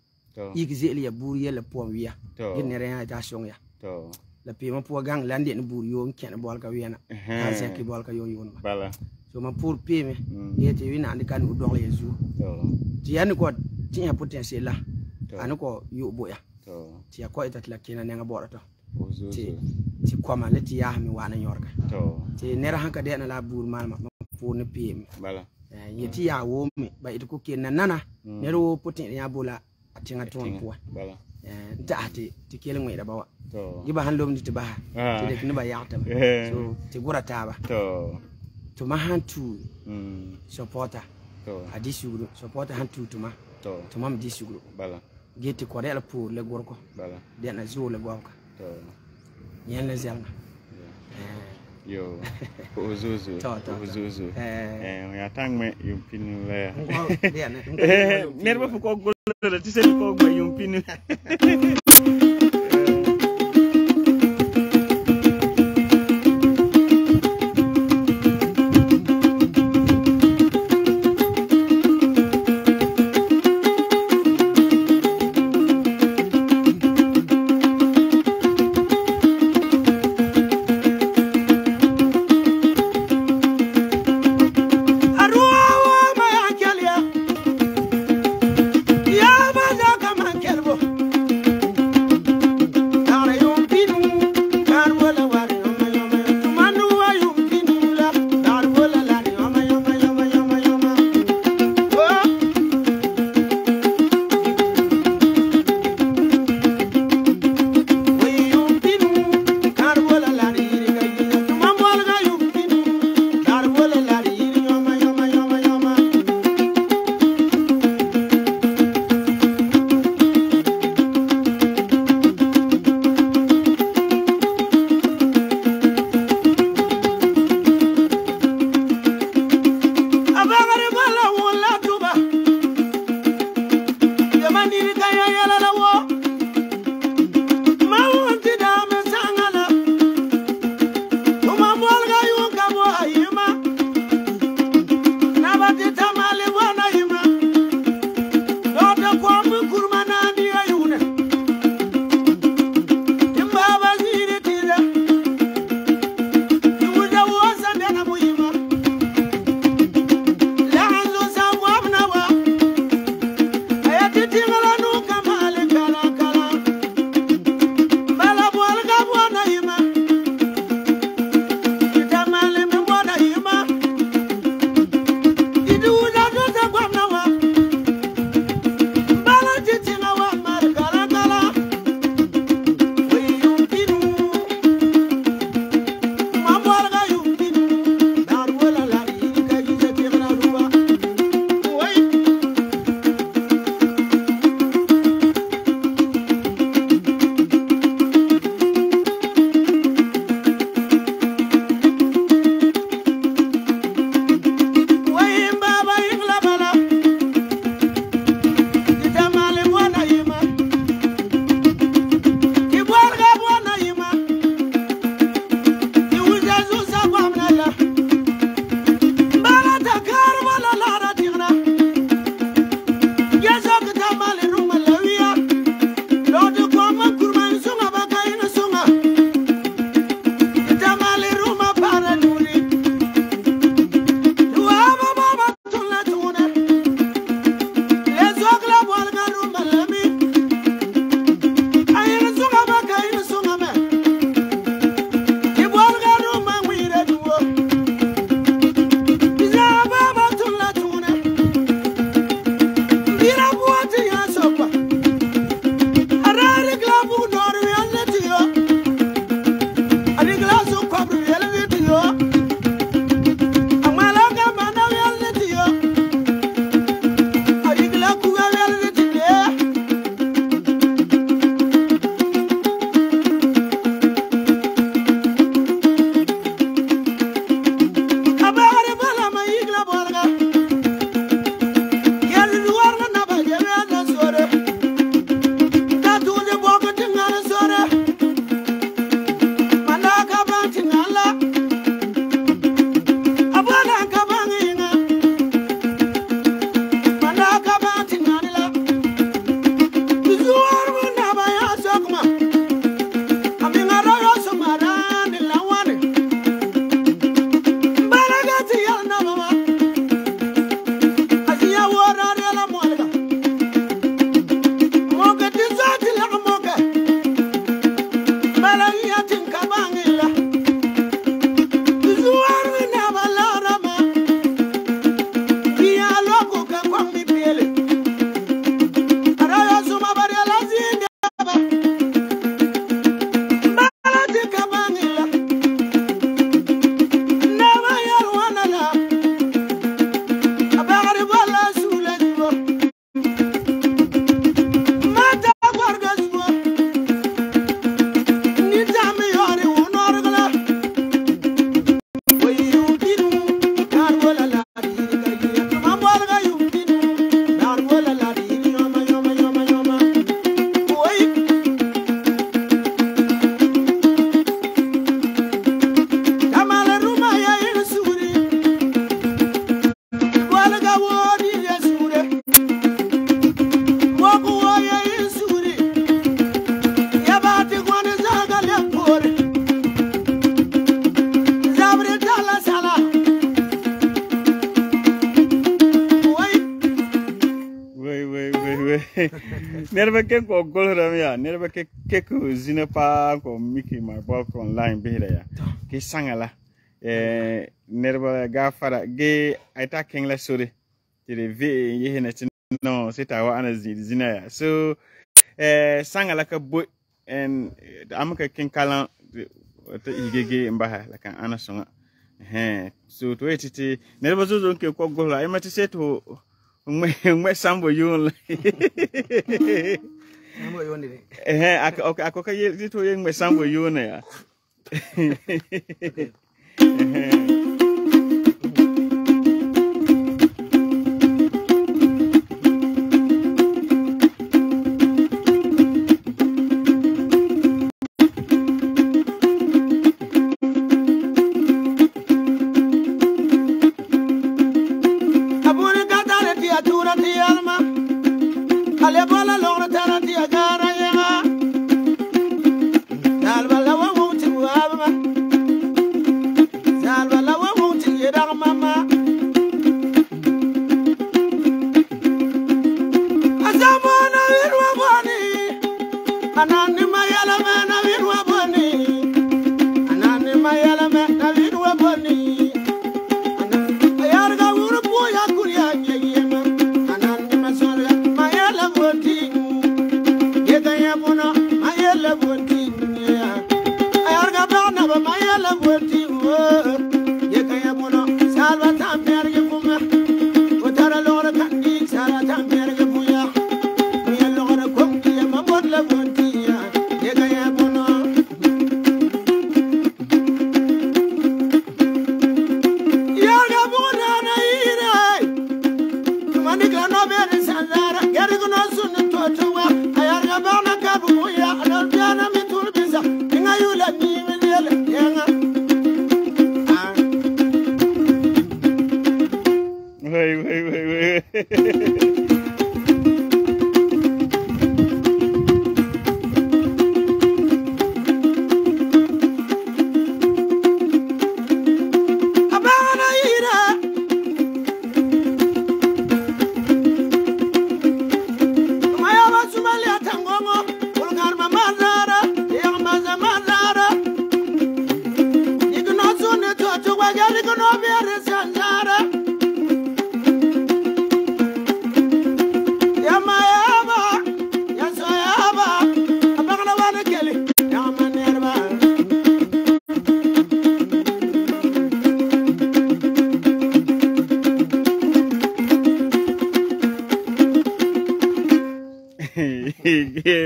yiki zeli ya buru yela po wiya gine re ya ta shong ya to la pe ma po gang lande ni buru yo ken bol ka wiena ha se ki bol ka yo yo bala so ma pour pe me yeti wina andi kan u dole yezu to ti yan ko ti ya potentiel la an ko yo boya to ti ya ko ita la kina ne nga bora to ti ti ko ma le ti ya mi wana nyorka to ti nera hanka de na la buru mal ma pour ne pe me bala yeti ya wo mi ba ita ko ken nana nero potentiel ya bola tinga ton puwa bala eh dati ti kele ngwe da bawa to giba han lom ti ba ti de kini ba yakta so ti gura taba to to ma han tu mm supporter to adi suguru supporter han tu tuma to to mam di suguru bala geti ko rela pour le gorko bala de na zo le gorko to yen le zelna yo ozuzu ozuzu eh ya tangme yumpinu le eh nerba fu ko gollo ti sen ko gbe yumpinu Nerba ke ko golram ya, nerba ke ke ko zina pa ko Mickey my bulk online behira ya. Ke sangala. Eh nerba ga fara ge aita kengla sore. Tire ve ye hena no sita wa ana zina ya. So eh sangala ka boy en amaka ken kala to igege mbaha la kan ana songa. Eh so to etiti nerba zo zo ke ko gola e mati seto ngwe sambo yun. Sambo yun ni. Eh ako ako ka ye to ye ngwe sambo yun ya.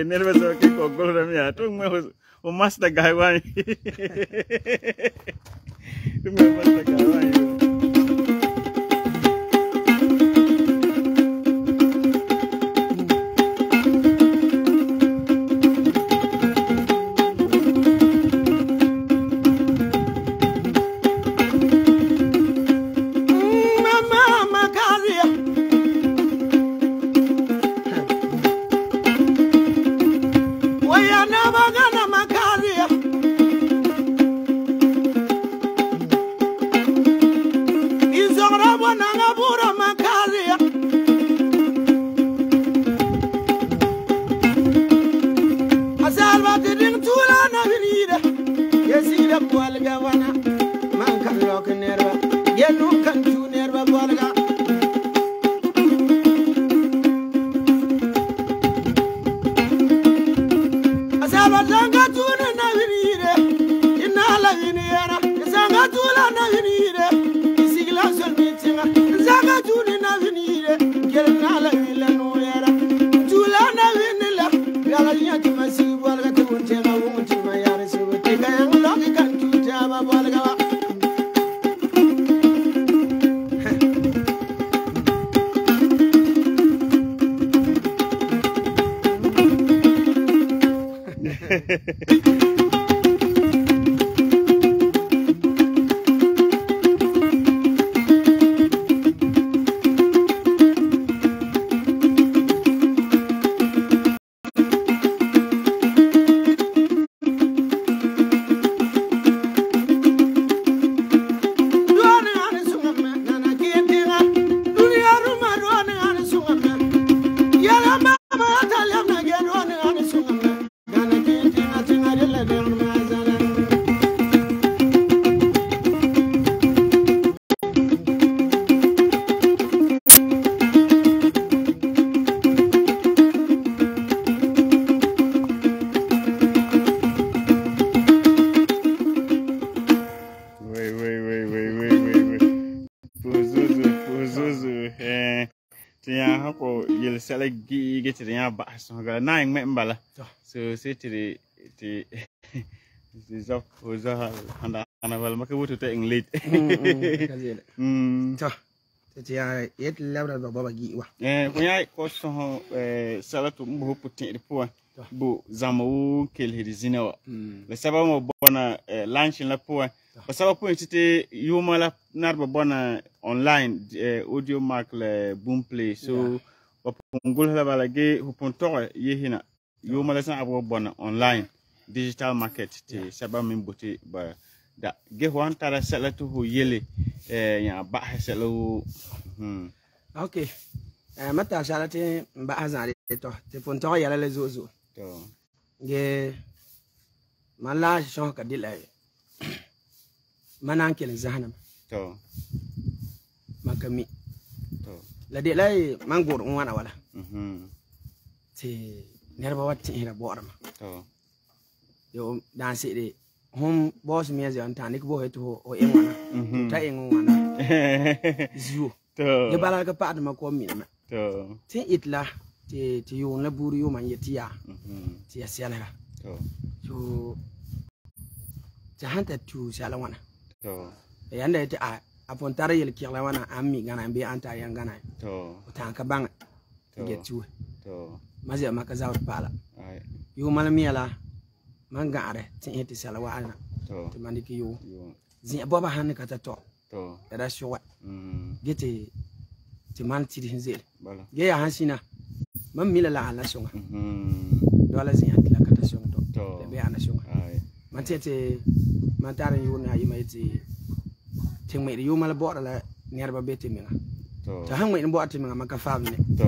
Nervous okay ko golram ya to me o master guy wani. To me master guy wani. Tiya hako yel sala gi get the ya ba so ga na ing me mbala. So say to the the the zop oza handa ana wal maka wuto ta ing late. Mm. To. Tiya yet labra baba gi wa. Eh kunya ko so eh sala to mbo putin de po. Bu zamu kel hirizina wa. Le saba mo bona lunch la po. Ba saba po tite yuma la narba bona online audio mark le Boomplay so ba pungul la bala ge hupon to yehina yuma la san abo bona online digital market te saba min boti ba da ge wan tara sala to ho yele eh ya ba sala hmm okay eh mata sala te ba hazan to te pon to yala le zozo to ge mala shon ka dilay manan kel zahanam to makami to la de lay mangor on wana wala mhm te nerba watti hira borma to yo dan se de hum boss mi azi anta nik bo heto o en wana ta en wana ziu to ge bala ka paad ma ko mi na to te itla te te yo na buru yo man yetiya mhm te yasiala to so ta hanta tu sala wana to yanda ite a apon tara yel kirla wana ammi gana be anta yan gana to ta ka bang get tu to mazi maka zawt pala ai yo malamiela man gaare tin ite sala wana to to maniki yo yo zin boba han ka ta to to da showa mhm gete ti man ti din zel bala ge ya hansina man mila la ala songa mhm dola zin atla ka ta songa to to be ana songa ai man tete man taran yo na yima ti tin mai yo mala bo la nerba bete minga to to han mai bo ati minga maka famne to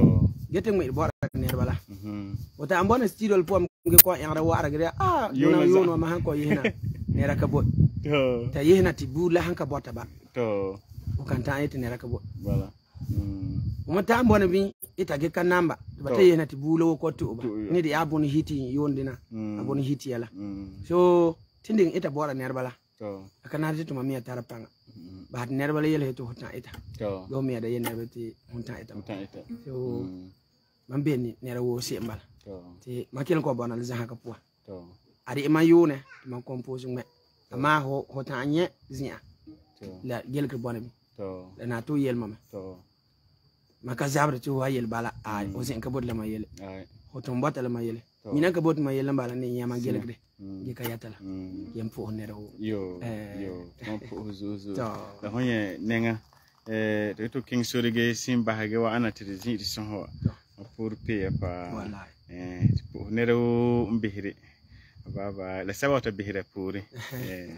gete mai bo nerba la mhm wata ambona studio pom ge ko en ra wara gre ah yo na yo no ma han ko yina nera ka bo to ta yina ti bula han ka bota ba to o kan ta ite nera ka bo bala mm mo ta ambona bi ita ge kan namba ba ta yina ti bula ko to ba ni di abun hiti yondina abun hiti yala so tinding ita bora nerba la to akana ti to mamiya tarapanga ba nerba la yele to hota ita to do mi da yene beti hunta ita hunta ita so man be ni nera wo se mbal to ti makil ko bona za ka po to ari ma yune man compose me ama ho hota anye zia to la gel ke bona bi to na to yel mama to maka zabre to wa yel bala a o sen ka bod la ma yel ai hoto mbata la ma yel mina ka bod ma yel bala ni yama gel ke ge ka yatala yem fo nera wo yo yo ton po zuzu da honye nenga eh to king sorige simba hage wa ana tirizin son ho pour payer pa wallahi eh po nera wo mbihire baba la sabata bihire puri eh